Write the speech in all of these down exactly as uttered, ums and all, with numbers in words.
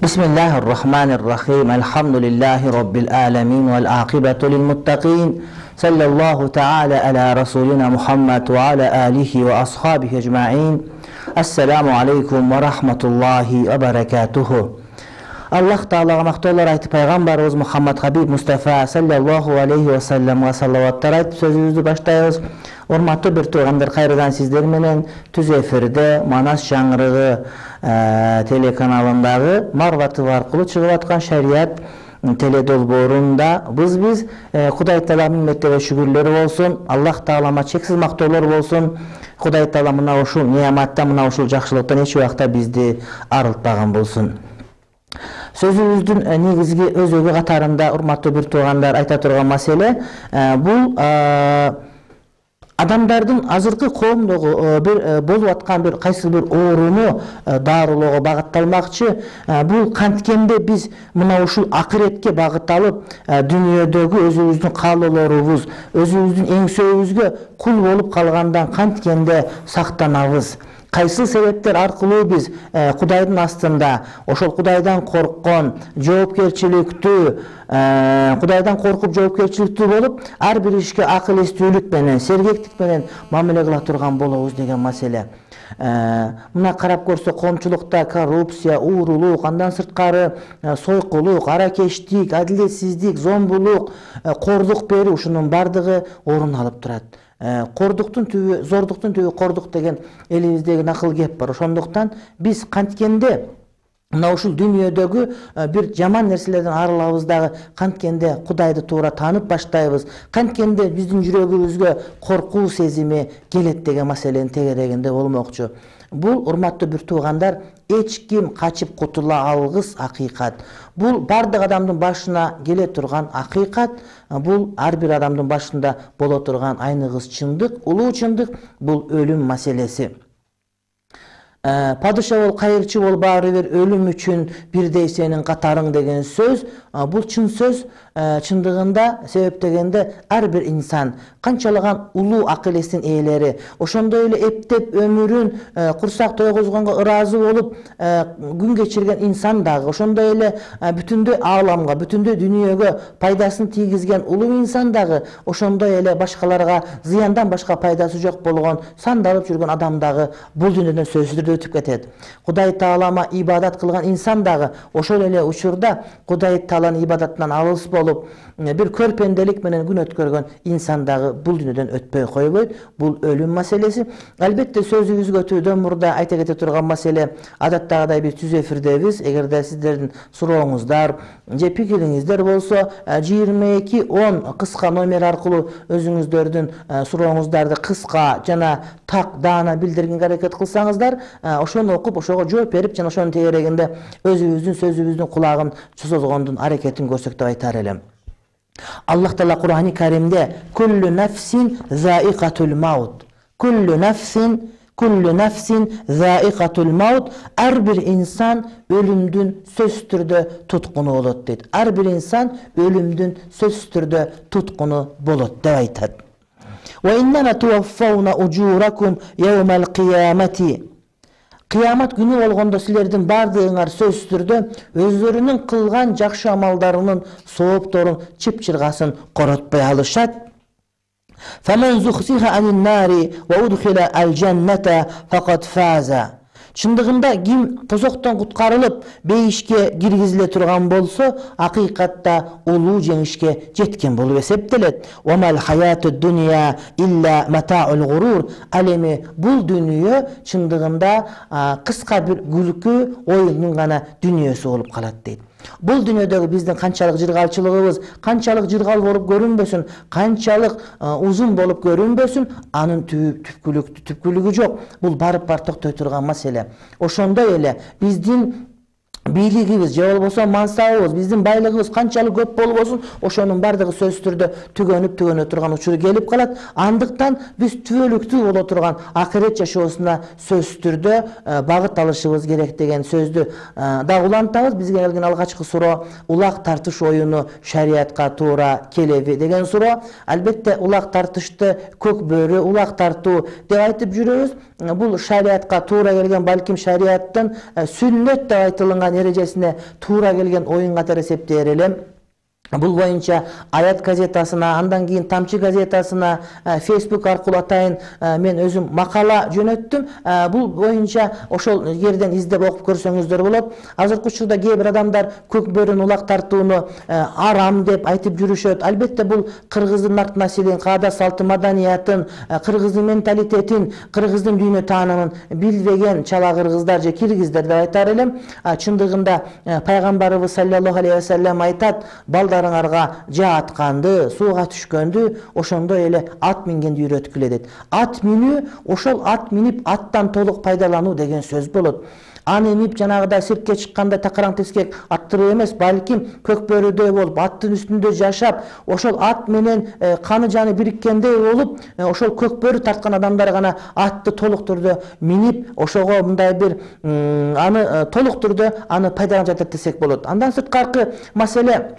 Bismillahirrahmanirrahim. Elhamdülillahi Rabbil alemin vel akibatu lil muttaqin. Sallallahu ta'ala ala Rasulina Muhammed ve ala alihi ve ashabihi ecma'in. Assalamu aleykum ve rahmetullahi ve berekatuhu. Allah Ta'ala maqtovlar aytib Peygamberimiz Muhammed Habib Mustafa sallallahu aleyhi ve sellem'e salavatlar aytib sözümüzdü başlayabız. Hormatly bir tuğanlar, kayradan sizler menen tüz efirde Manas Жаңырыгы e, telekanalındagı Marvatı arkulu çıgıp atkan şeriat teledolborunda biz biz e, Kuday Taala minneti ve şükürleri olsun. Allah Ta'alama çeksiz maqtovlar olsun. Kuday Taala mına uşul niyamattan, mına uşul jakşılıktan hiç vaqta bizdi arıltpagan bolsun. Sözümüzdün e, negizgi özögü katarında urmatlı bir tuğanlar ayta turgan mesele e, bu e, adamdардын азыркы коомдогу бир болуп аткан бир кайсы бир ооруну дарылоого багытталмакчы. Бул канткенде биз мына ушул акыретке багытталып, дүйнөдөгү өзүбүздүн каалоолорубуз, өзүбүздүн эңсөөбүзгө кул болуп калгандан канткенде сактанабыз. Кайсы себептер аркылуу биз э, Кудайдын астында ошол Кудайдан корккон, жоопкерчиликтүү, э, Кудайдан коркуп жоопкерчиликтүү болуп, ар бир ишке акыл эстүүлүк менен, сергектик менен мамиле кыла турган болобуз деген маселе. Э, мына карап көрсө коомчулукта коррупция, уурулук, андан сырткары э, сойкулук, аракештик, адилетсиздик, зомбулук, э, кордук берүү ушунун бардыгы орун алып турат. Кордуктун түбү, зордуктун түбү кордук деген элибиздеги накыл кеп бар. Ошондуктан биз канткенде мына ушул дүйнөдөгү бир жаман нерселерден арылабыз дагы, канткенде Кудайды туура таанып баштайбыз, канткенде биздин жүрөгүбүзгө коркуу сезими келет деген маселенин тегерегинде болмокчу. Бул урматтуу бир туугандар, эч ким качып кутула алгыс акыйкат. Бул бардык адамдын башына келе турган акыйкат. Бул ар бир адамдын башында боло турган айныгыс чындык, улуу чындык. Бул өлүм маселеси. Падыша бол, кайырчы бол, баары бир өлүм үчүн бирдей сенин катарың деген сөз. Бул чын сөз. Чындыгында себептегенде ар бир инсан канчалаган улуу акыл эстин ээлери, ошондой эле эптеп өмүрүн курсак тойгозгонго ыраазы болуп күн кечирген инсан дагы, ошондой эле бүтүндөй ааламга, бүтүндөй дүйнөгө пайдасын тийгизген улуу инсан дагы, ошондой эле башкаларга зыяндан башка пайдасы жок болгон сандалып жүргөн адам дагы бул дүйнөдөн сөзсүз түрдө өтүп кетет. Кудай Таалама ибадат кылган инсан дагы ошол эле учурда Кудай Тааланын ибадатынан алыс болуп, бир көрпенделик менен күн өткөргөн инсан дагы бул дүйнөдөн өтпөй койбойт. Бул өлүм маселеси. Албетте сөзүбүзгө өтүүдөн мурда айта кете турган маселе, адаттагыдай биз түз эфирдебиз. Эгерде сиздердин сурооңуздар же пикириңиздер болсо, жыйырма эки он кыска номер аркылуу өзүңүздөрдүн сурооңуздарды кыска жана так даана билдиргенге аракет кылсаңыздар, ошону окуп, ошого жооп берип, жана ошонун тегерегинде өзүбүздүн сөзүбүздүн кулагын созгондун аракетин көрсөк деп айтар элем. Allah Taala Kur'an-ı Kerim'de kullu nefsin zaiqatul maut. Kullu nefsin kullu nefsin zaiqatul maut. Her bir insan ölümdün söz türde tutkunu bolot deydi. Her bir insan ölümdün söz türde tutkunu bolot deyip aytат. Ve innema tuwaffawna ujurakum yawmal qiyamati. Kıyamet günü olganda sizlerden bardığınlar söz türde özlerinin kılgan jakşı amallarının soğuptorun çıpçırgasın korotpay alışat. فَمَنْ زُخْزِهَ عَنِ النَّارِ وَاُدْخِلَ الْجَنَّةَ فَقَدْ فَازَ. Çındığında kim tozoktan kutkarılıp beyişke girgizile turgan bolsa, hakikatta ulu jеңишке jetken bolup eseptelet. وَمَا الْحَيَاتُ الدُّنْيَا إِلَّا مَتَاعُ الْغُرُورِ. Alemi bul dünya çındığında kıska bir gülkü oyunun gana dünyası olup kalat deydi. Bul dünyadagi bizdin kançalık jırgalçılığыбыз, kançalık jırgal bolup görünbösün, kançalık uzun bolup görünbösün, anın tüpkülük, tüpkülügü jok. Bul barıp bar toktoy turgan masele. Ошондой эле биздин бийлигибиz же болбосо мансабыбыз, биздин байлыгыбыз канчалык көп болбосун, ошонун бардыгы сөзсүз түрдө түгөнүп түгөнө турган учуру келип калат. Андыктан биз түбөлүктүү боло турган акырет жашоосуна сөзсүз түрдө багыт алышыбыз керек деген сөздү да улантабыз. Бизге келген алгачкы суроо улак тартыш оюну шариатка туура келеби деген суроо. Албетте улак тартышты көк бөрү, улак тартуу деп айтып жүрөбүз. Бул шариатка туура келген, балким шариаттын сүннөт деп айтылган Кураннын эрежесине туура келген оюн катары эсептээр элем. Бул боюнча Аят газетасына, андан кийин Тамчы газетасына, Facebook аркылуу атайын мен өзүм макала жөнөттүм. Бул боюнча ошол жерден издеп окуп көрсөңүздөр болот. Азыркы учурда кээ бир адамдар көк бөрүнү улак тартууну арам деп айтып жүрүшөт. Албетте бул кыргыздын нарт населин, каада салты, маданиятын, кыргыздын менталитетин, кыргыздын дүйнө таанымын билбеген чала кыргыздар же киргиздер деп айтар элем. Чындыгында пайгамбарыбыз саллаллаху алейхи ва саллям айтат: балдарыңарга жаа атканды, сууга түшкөндү ошондой эле ат мингенди үйрөткүлө дейт. Ат минүү ошол ат минип аттан толук пайдалануу деген сөз болот. Аны минип жанагыдай сиртке чыкканда такараң тескек аттырып эмес, балким көк бөрүдөй болуп, аттын үстүндө жашап, ошол ат менен каны жаны бириккендей болуп, ошол көк бөрү тарткан адамдар гана атты толук түрдө минип, ошого мындай бир аны толук түрдө аны пайдаланып жатат десек болот. Андан сырткаркы маселе,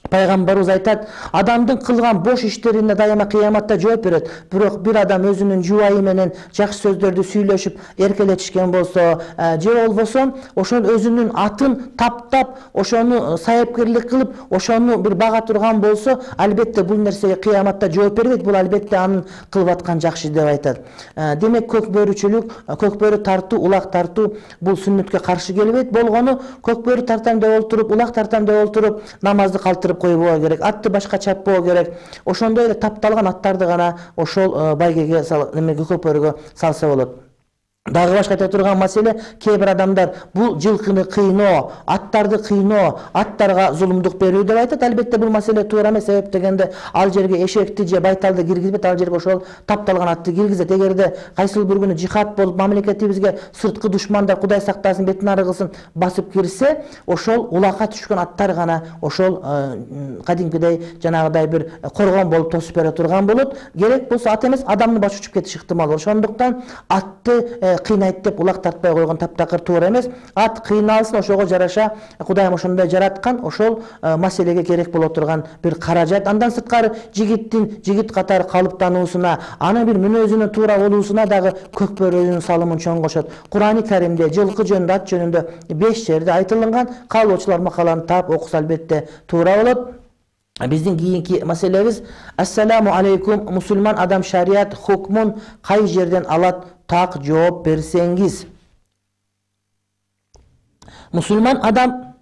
Пайгамбарыбыз айтат: адамдын кылган бош иштерине дайыма кыяматта жооп берет. Бирок бир адам өзүнүн жубайы менен жакшы сөздөрдү сүйлөшүп эркелетишкен болсо, же болбосо ошол өзүнүн атын таптап, ошону сайыпкерлик кылып, ошону бир бага турган болсо, албетте бул нерсеге кыяматта жооп бербейт. Бул албетте анын кылып аткан жакшы деп айтат. Демек көк бөрүчүлүк, көк бөрү тартуу, улак тартуу бул сүннөткө каршы келбейт. Болгону көк бөрү тартам деп олтуруп, улак тартам деп олтуруп намазды калтырып койбоо керек, атты башка чаппоо керек. Ошондой эле тапталган аттарды гана ошол байгеге немеге көк бөрүгө салса болот. Дагы башка айта турган маселе, кээ бир адамдар бул жылкыны кыйноо, аттарды кыйноо, аттарга зулумдук берүү деп айтат. Албетте бул маселе туура эмес. Себеп дегенде ал жерге эшекти же байталды киргизбейт, ал жерге ошол тапталган атты киргизет. Эгерде кайсыл бир күнү жихад болуп, мамлекетибизге сырткы душмандар, Кудай сактасын, бетин ары кылсын, басып кирсе, ошол улакка түшкөн аттар гана ошол кадимкидей жанагыдай бир коргон болуп тосуп бере турган болот. Керек болсо ат эмес, адамды баш учуп кетиш ыктымал бар. Ошондуктан атты кыйнайт деп улак тартпай койгон таптакыр туура эмес. Ат кыйналсын, ошого жараша Кудайым ошондой жараткан, ошол маселеге керек боло турган бир каражат. Андан сырткары жигиттин жигит катары калыптануусуна, анын бир мүнөзүнүн туура болуусуна дагы көк бөрү өзүнүн салымын чоң кошот. Курани Каримде жылкы жөнүндө, ат жөнүндө беш жерде айтылган. Каалоочулар макаланы таап окуса албетте туура болот. Биздин кийинки маселебиз: Ассаламу алейкум, мусулман адам шарият хукмун кай жерден алат? Так жооп берсеңиз. Мусулман адам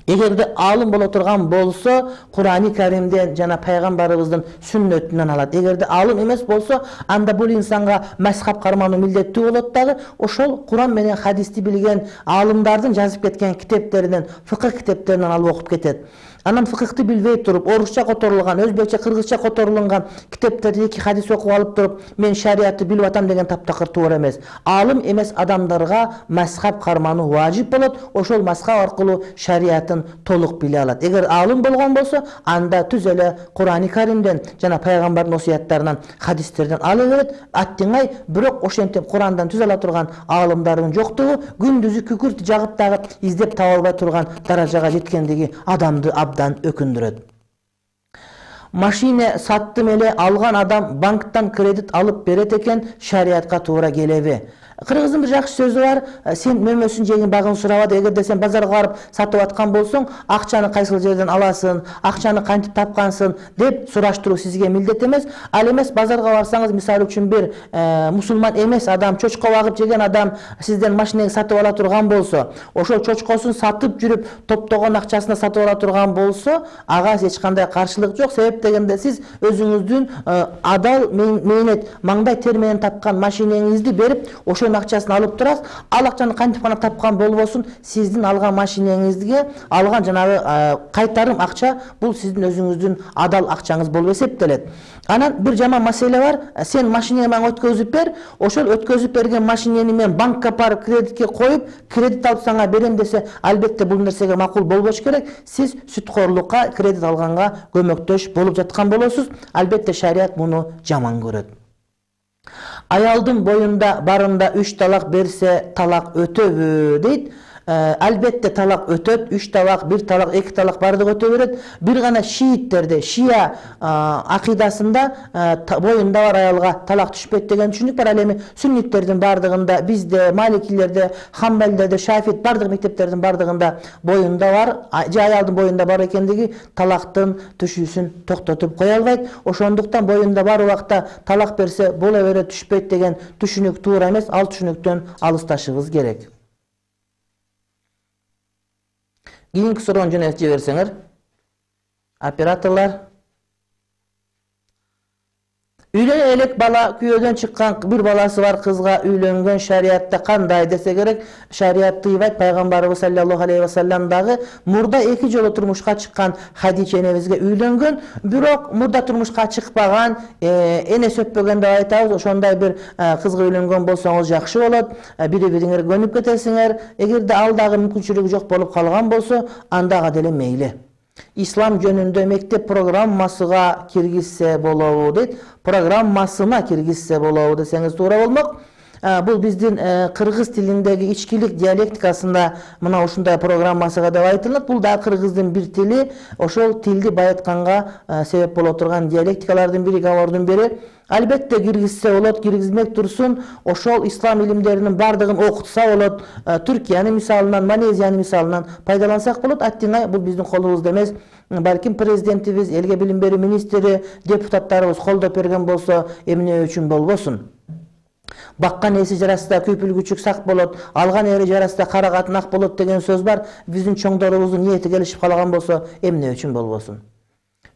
эгерде алым боло турган болсо, Курани Каримден жана пайгамбарыбыздын сүннөтүнөн алат. Эгерде алым эмес болсо, анда бул инсанга мазхаб кармануу милдеттүү болот дагы. Ошол Куран менен хадисти билген алымдардын жазып кеткен китептеринен, фыкых китептеринен алып окуп кетет. Анан фыкыхты билбей туруп, орусча которулган, өзбекче, кыргызча которулган китептерди эки хадис окуп алып туруп, мен шариятты билип атам деген таптакыр туура эмес. Алым эмес адамдарга мазхаб кармануу важип болот. Ошол мазхаб аркылуу шариятын толук биле алат. Эгер алым болгон болсо, анда түз эле Курани Каримден жана пайгамбардын осуяттарынан, хадистерден ала берет. Аттыңай, бирок ошентип Курандан түз ала турган алымдардын жоктугу күндүзү күкүрт жагып дагы издеп таба албай турган даражага жеткендиги адамды абдан өкүндүрөт. Машина саттым эле алган адам банктан кредит алып берет экен, шариятка туура келеби? Кыргыздын бир жакшы сөзү бар: сен мөмөсүн жеңин багын сурабады. Эгерде сен базарга барып сатып аткан болсоң, акчаны кайсыл жерден аласың, акчаны кантип тапкансың деп сураштыруу сизге милдет эмес. Ал эмес, базарга барсаңыз, мисалы үчүн бир мусулман эмес адам, чочко багып жеген адам сизден машинеңи сатып ала турган болсо, ошол чочкосун сатып жүрүп, топтогон акчасына сатып ала турган болсо, ага эч кандай каршылык жок. Себеп дегенде сиз өзүңүздүн адал мээнет, маңдай тер менен тапкан машинеңизди берип, ошо акчасын алып турасыз. Ал акчаны кантип гана тапкан болбосун, сиздин алган машинеңизге алган жанагы кайтарым акча бул сиздин өзүңүздүн адал акчаңыз болуп эсептелет. Анан бир жаман маселе бар: сен машинеңи мага өткөзүп бер, ошол өткөзүп берген машинени мен банкка барып кредитке коюп, кредит алып сага берем десе, албетте бул нерсеге макул болбош керек. Сиз сүткорлукка, кредит алганга көмөктөш болуп жаткан болосуз. Албетте шарият муну жаман көрөт. Аялдын боюнда барында үч талак берсе, талак өтөбү дейт. Албетте талак өтөт, үч талак, бир талак, эки талак бардыгы өтө берет. Бир гана шииттерде, шия акыйдасында боюнда бар аялга талак түшпөйт деген түшүнүк бар. Ал эми сүнниттердин бардыгында, бизде, маликилерде, хамбалдерде, шафит бардык мектептердин бардыгында боюнда бар, же аялдын боюнда бар экендиги талактын түшүүсүн токтотуп кое албайт. Ошондуктан боюнда бар убакта талак берсе боло берет, түшпөйт деген түшүнүк туура эмес. Ал түшүнүктөн алысташыбыз керек. Кийинки суроону жөнөтүп жиберсеңер. Операторлар. Үйлөнө элек бала, күйөөдөн чыккан бир баласы бар кызга үйлөнгөн шариатта кандай десе керек? Шариат тыйбайт. Пайгамбарыбыз саллаллаху алейхи вассалам дагы мурда эки жолу турмушка чыккан Хадича энебизге үйлөнгөн, бирок мурда турмушка чыкпаган, эне сөппөгөн деп айтабыз. Ошондой бир кызга үйлөнгөн болсоңуз жакшы болот. Бири-бириңерге көнүп кетесиңер. Эгерде ал дагы мүмкүнчүлүгү жок болуп калган болсо, андага деле мейли. Ислам жөнүндө мектеп программасыга киргизсе болобу дейт. Программасына киргизсе болобу десеңиз туура болмок. Бул биздин кыргыз тилиндеги ичкилик диалектикасында мына ушундай программасыга деп айтылат. Бул да кыргыздын бир тили, ошол тилди байытканга себеп боло турган диалектикалардын бири, говордун бири. Албетте киргизсе болот, киргизмек турсун. Ошол ислам илимдеринин бардыгын окутса болот. Түркиянын мисалынан, Малезиянын мисалынан пайдалансак болот. Аттиңай бул биздин колубузда эмес. Балким президентибиз, элге билим берүү министри, депутаттарыбыз колдоп берген болсо, эмне үчүн болбосун? Баккан эси жарасында күйпүлгүчүк сак болот, алган эри жарасында кара катын ак болот деген сөз бар. Биздин чоңдорубуздун ниети келишип калган болсо, эмне үчүн болбосун?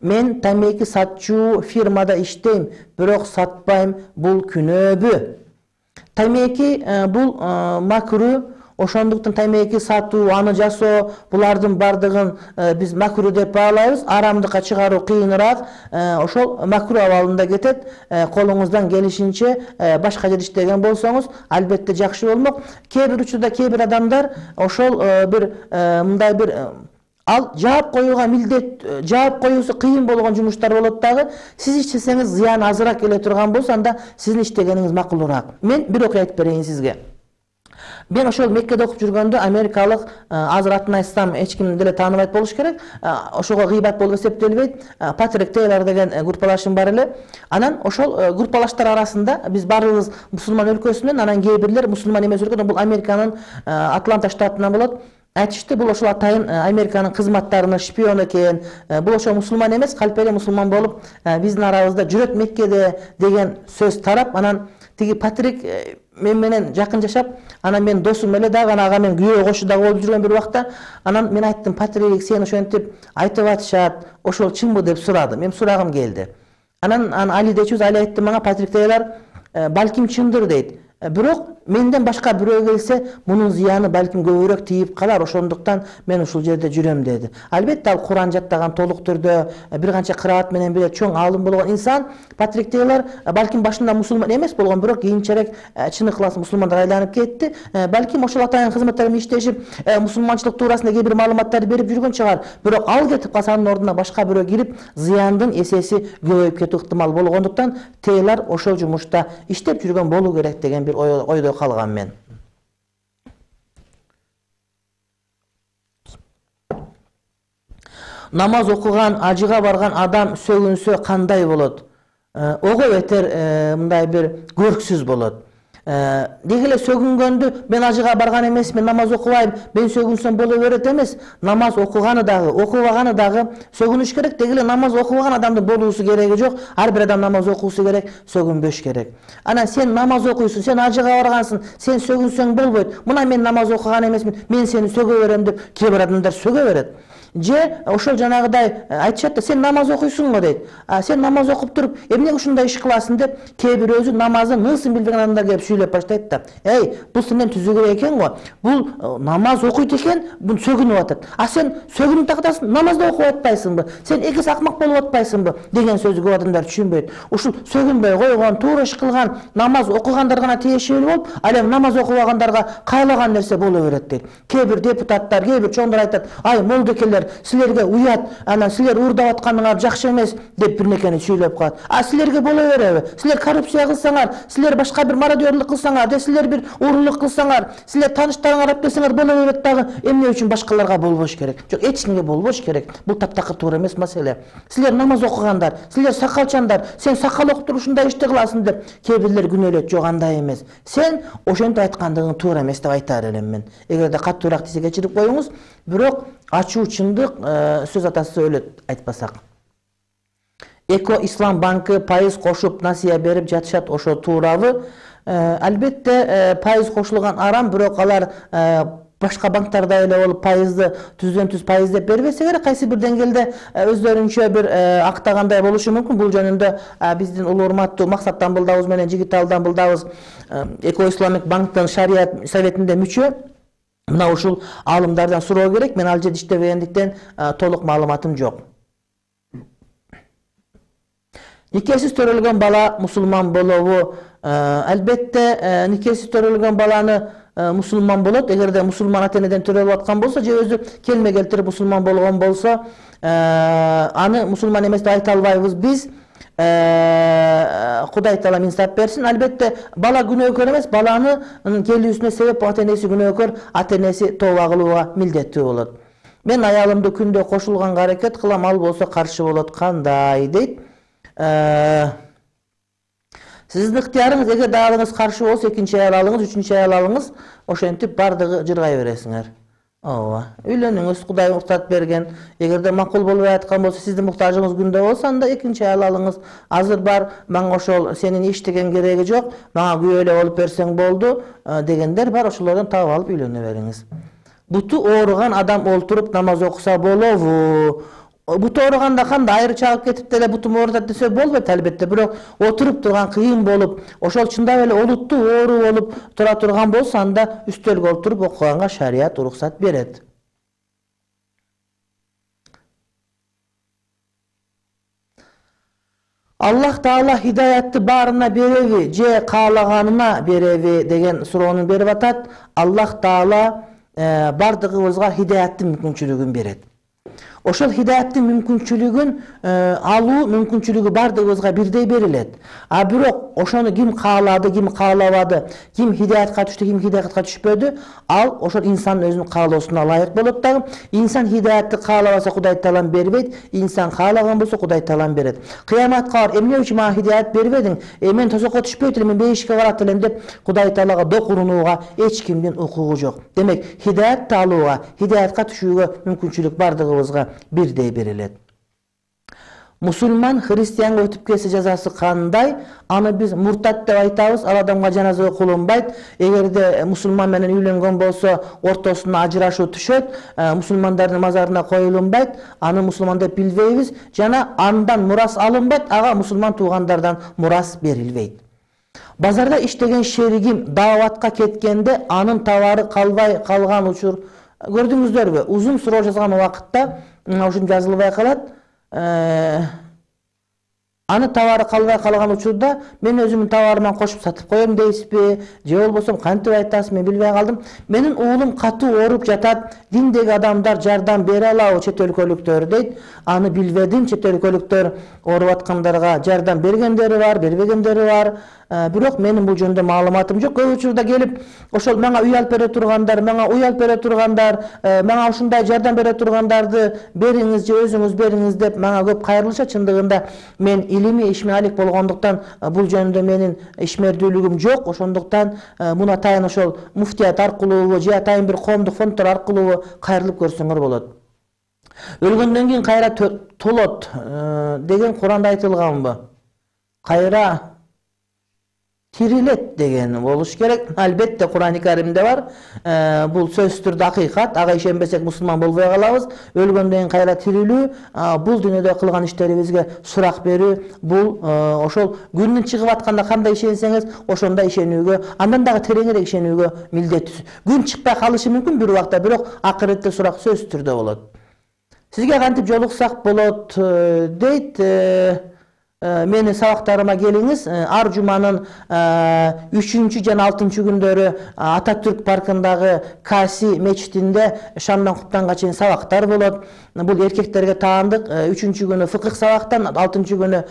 Мен тамеки сатчу фирмада иштейм, бирок сатпайм, бул күнөөбү? Тамеки бул макру, ошондуктан тамеки сатуу, аны жасоо, булардын бардыгын биз макру деп баалайбыз. Арамдыкка чыгаруу кыйыныраак, ошол макру абалында кетет. Колуңуздан келишинче башка жер иштеген болсоңуз, албетте жакшы болмок. Кээ бир учурда кээ бир адамдар ошол бир мындай бир ал жаап коюуга милдет, жаап коюусу кыйын болгон жумуштар болот дагы. Сиз иштесеңиз зыян азыраак келе турган болсо, анда сиздин иштегениңиз макулураак. Мен бир окуя айтып берейин сизге. Мен ошол Меккеде окуп жүргөндө америкалык, азыр атын айтсам эч ким деле тааныбайт болуш керек, ошого гыйбат болуп эсептелбейт, Патрик Тейлор деген группалашым бар эле. Анан ошол группалаштар арасында биз баарыбыз мусулман өлкөсүнөн, анан кээ бирлер мусулман эмес өлкөдөн, бул Американын Атланта штатынан болот. Айтышты, бул ошол атайын Американын кызматтарынын шпиону экен. Бул ошол мусулман эмес, калпеле мусулман болуп, биздин арабызда жүрөт Меккеде деген сөз тарап, анан тиги Патрик мен менен жакын жашап, анан мен досум эле дагы, ага мен күйөө кошу дагы болуп жүргөн бир убакта. Анан мен айттым: "Патрик, сен ошентип айтып атышат, ошол чынбы?" деп сурады. Мен сурагым келди. Анан Али дечүбүз, Али айтты мага: "Патрик Тейлор, балким чындыр" дейт. Бирок менден башка бирөө келсе, мунун зыяны балким көбүрөөк тийип калар, ошондуктан мен ушул жерде жүрөм деди. Албетте ал Куран жаттаган, толук түрдө бир канча кыраат менен бирге чоң аалым болгон инсан. Патрик Тейлор балким башында мусулман эмес болгон, бирок кийинчерээк чын ыклас мусулмандар айланып кетти. Балким ошол атайын кызматтар менен иштешип, мусулманчылык туурасында кээ бир маалыматтарды берип жүргөн чыгар. Бирок ал кетип калса, анын ордуна башка бирөө кирип, зыяндын эсеси көбөйүп кетүү ыктымал болгондуктан Тейлор ошол жумушта иштеп жүргөн болуу керек деген бир ойдо калган мен. Намаз окуган, ажыга барган адам сөгүнсө кандай болот? Ого бетер мындай бир көрксүз болот. Деги эле сөгүнгөндү мен ажыга барган эмесмин, намаз окубайм, мен сөгүнсөм боло берет эмес. Намаз окуганы дагы, окубаганы дагы сөгүнүш керек. Деги эле намаз окубаган адамдын болуусу кереги жок. Ар бир адам намаз окуусу керек, сөгүнбөш керек. Анан сен намаз окуйсуң, сен ажыга баргансың, сен сөгүнсөң болбойт. Мына мен намаз окуган эмесмин, мен сени сөгө берем деп кээ бир адамдар сөгө берет. Же ошол жанагыдай айтышат да, сен намаз окуйсуң го дейт. Сен намаз окуп туруп, эмне ушундай иш кыласың деп кээ бир өзү намазын нысын билбеген адамдар келип сүйлөп баштайт да. Эй, бул сенден түзүгүрөөк экен го. Бул намаз окуйт экен, бул сөгүнүп атат. А сен сөгүнүп тактасың, намазда окуп атпайсыңбы? Сен экис акмак болуп атпайсыңбы? Деген сөздү көп адамдар түшүнбөйт. Ушул сөгүнбөй койгон, туура иш кылган, намаз окугандар гана тиешелүү болуп, ал эми намаз окубагандарга кайлаган нерсе боло берет дейт. Кээ бир депутаттар, кээ бир чоңдор айтат: "Ай, молдокелер, келгендер силерге уят, анан силер уурдап атканыңар жакшы эмес деп бир нерсени сүйлөп коет. А силерге боло береби? Силер коррупция кылсаңар, силер башка бир мародёрлук кылсаңар, же силер бир уурулук кылсаңар, силер тааныштарыңар алып келсеңер боло берет дагы. Эмне үчүн башкаларга болбош керек? Жок, эч кимге болбош керек. Бул таптакыр туура эмес маселе. Силер намаз окугандар, силер сакалчандар, сен сакал окуп ушундай ишти кыласың деп кээ бирлер күнөөлөйт. Жок, андай эмес. Сен ошентип айткандыгың туура эмес деп айтар элем мен. Эгерде каттуураак десе кечирип коюңуз, бирок ачуу чындык сөз атасы өлөт айтпасак. Эко Ислам банкы пайыз кошуп насыя берип жатышат, ошо туурабы? Албетте пайыз кошулган арам, бирок алар башка банктарда эле болуп пайызды түздөн түз пайыз деп бербесе керек, кайсы бир деңгээлде өздөрүнчө бир актагандай болушу мүмкүн. Бул жөнүндө биздин улуу урматтуу Максат Дамбылдабыз менен Жигитал Дамбылдабыз Эко Исламик банктын шарият советинде мүчө. Мына ушул алымдардан суроо керек. Мен ал жерде иштебегендиктен толук маалыматым жок. Никесиз төрөлгөн бала мусулман болобу? Албетте никесиз төрөлгөн баланы мусулман болот. Эгерде мусулман ата-энеден төрөлүп аткан болсо, же өзү келме келтирип мусулман болгон болсо, аны мусулман эмес деп айта албайбыз биз. Кудай таала инсап берсин. Албетте бала күнөөкөр эмес, баланы келүүсүнө себеп ата-энеси күнөөкөр, ата-энеси тооба кылууга милдеттүү болот. Мен аялымды күндө кошулганга аракет кылам, ал болсо каршы болот. Кандай дейт? Сиздин ыктыярыңыз, эгер даалыңыз каршы болсо, экинчи аял алыңыз, үчүнчү аял алыңыз, ошентип бардыгы жыргай бересиңер. Ооба. Үйлөнүңүз, Кудай уруксат берген. Эгерде макул болбой аткан болсо, сиздин муктажыңыз күндө болсо, анда экинчи аял алыңыз. Азыр бар, мага ошол сенин эчтеген кереги жок, мага күйөө эле болуп берсең болду дегендер бар, ошолордон таап алып үйлөнө бериңиз. Буту ооруган адам олтуруп намаз окуса болобу? Буту ооруганда кандай айры чагып кетип деле бутум оорутат десе болбойт албетте, бирок отуруп турган кыйын болуп, ошол чындап эле олуттуу оору болуп тура турган болсо, анда үстөлгө олтуруп окуганга шарият уруксат берет. Аллах Таала хидаятты баарына береби, же каалаганына береби деген суроону берип атат. Аллах Таала бардыгыбызга хидаяттын мүмкүнчүлүгүн берет. Ошол хидаяттын мүмкүнчүлүгүн алуу мүмкүнчүлүгү бардыгыбызга бирдей берилет. А бирок ошону ким каалады, ким каалабады, ким хидаятка түштү, ким хидаятка түшпөдү, ал ошол инсандын өзүнүн каалоосуна ылайык болот дагы. Инсан хидаятты каалабаса Кудай Таалам бербейт, инсан каалаган болсо Кудай Таалам берет. Кыяматка бар, эмне үчүн мага хидаят бербедиң? Э мен тозокко түшпөйт элем, мен бейишке барат элем деп Кудай Таалага докурунууга эч кимдин укугу жок. Демек, хидаятты алууга, хидаятка түшүүгө мүмкүнчүлүк бардыгыбызга бирдей берилет. Мусулман христианга өтүп кетсе жазасы кандай? Аны биз муртат деп айтабыз. Ал адамга жаназа окулунбайт. Эгерде мусулман менен үйлөнгөн болсо, ортосуна ажырашуу түшөт, мусулмандардын мазарына коюлунбайт. Аны мусулман деп билбейбиз. Жана андан мурас алынбайт, ага мусулман туугандардан мурас берилбейт. Базарда иштеген шеригим дааватка кеткенде анын товары калбай калган учур көрдүңүздөрбү? Узун суроо жазган убакытта ушун жазылбай калат. Аны товары калбай калган учурда мен өзүмдүн товарыман кошуп сатып коем дейсизби? Же болбосо кантип айтасыз, мен билбей калдым. Менин уулум катуу ооруп жатат. Диндеги адамдар жардам бере алабы, чет өлкөлүктөр дейт. Аны билбедим. Чет өлкөлүктөр ооруп аткандарга жардам бергендери бар, бербегендери бар. Бирок менин бул жөнүндө маалыматым жок. Көп учурда келип, ошол мага үй алып бере тургандар, мага уй алып бере тургандар, мага ушундай жардам бере тургандарды бериңиз же өзүңүз бериңиз деп мага көп кайрылышат. Чындыгында мен илимий ишмалик болгондуктан бул жөнүндө менин ишмердүүлүгүм жок. Ошондуктан муну атайын ошол муфтият аркылуу же атайын бир коомдук фонддор аркылуу кайрылып көрсөңөр болот. Өлгөндөн кийин кайра толот деген Куранда айтылганбы? Кайра тирилет деген болуш керек. Албетте Куран-ы Каримде бар. Бул сөзсүз түрдө акыйкат. Ага ишенбесек мусулман болбой калабыз. Өлгөндөн кийин кайра тирилүү, бул дүйнөдө кылган иштерибизге сурак берүү, бул ошол күндүн чыгып атканда кандай ишенсеңиз, ошондой ишенүүгө, андан дагы тереңирээк ишенүүгө милдеттүүсүз. Күн чыкпай калышы мүмкүн бир убакта, бирок акыретте сурак сөзсүз түрдө болот. Сизге кантип жолуксак болот дейт. Мени сабактарыма келиңиз. Ар жуманын үчүнчү жана алтынчы күндөрү Ататүрк паркындагы Каси мечитинде шамдан куптанга чейин сабактар болот. бул эркектерге таандык. Үчүнчү күнү фыкых сабактан, алтынчы күнү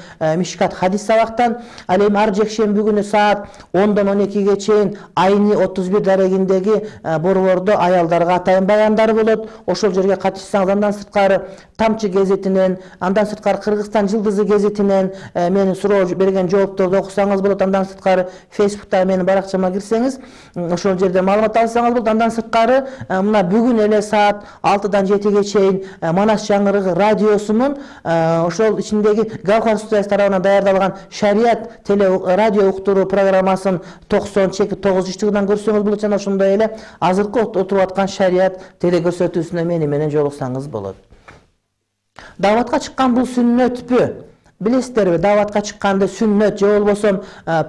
мишкат хадис сабактан. Ал эми ар жекшемби күнү саат ондон он экиге чейин айни отуз бир дарегиндеги борбордо аялдарга атайын баяндар болот. Ошол жерге катышсаңыз, андан сырткары Тамчы гезетинен, андан сырткары Кыргызстан жылдызы гезетинен менин суроо берген жоопторду окусаңыз болот. Андан сырткары Facebook'та менин баракчама кирсеңиз, ошол жерде маалымат алсаңыз болот. Андан сырткары мына бүгүн эле саат алтыдан жетиге чейин Манас жаңырыгы радиосунун ошол ичиндеги Галкар студиясы тарабынан даярдалган шарият теле радио уктуруу программасын токсон чеки тогузунчудан көрсөңүз болот. Жана ошондой эле азыркы отуруп аткан шарият теле көрсөтүүсүнө мени менен жолуксаңыз болот. Даватка чыккан бул сүннөтпү? Билесиздерби, даватка чыкканды сүннөт же болбосо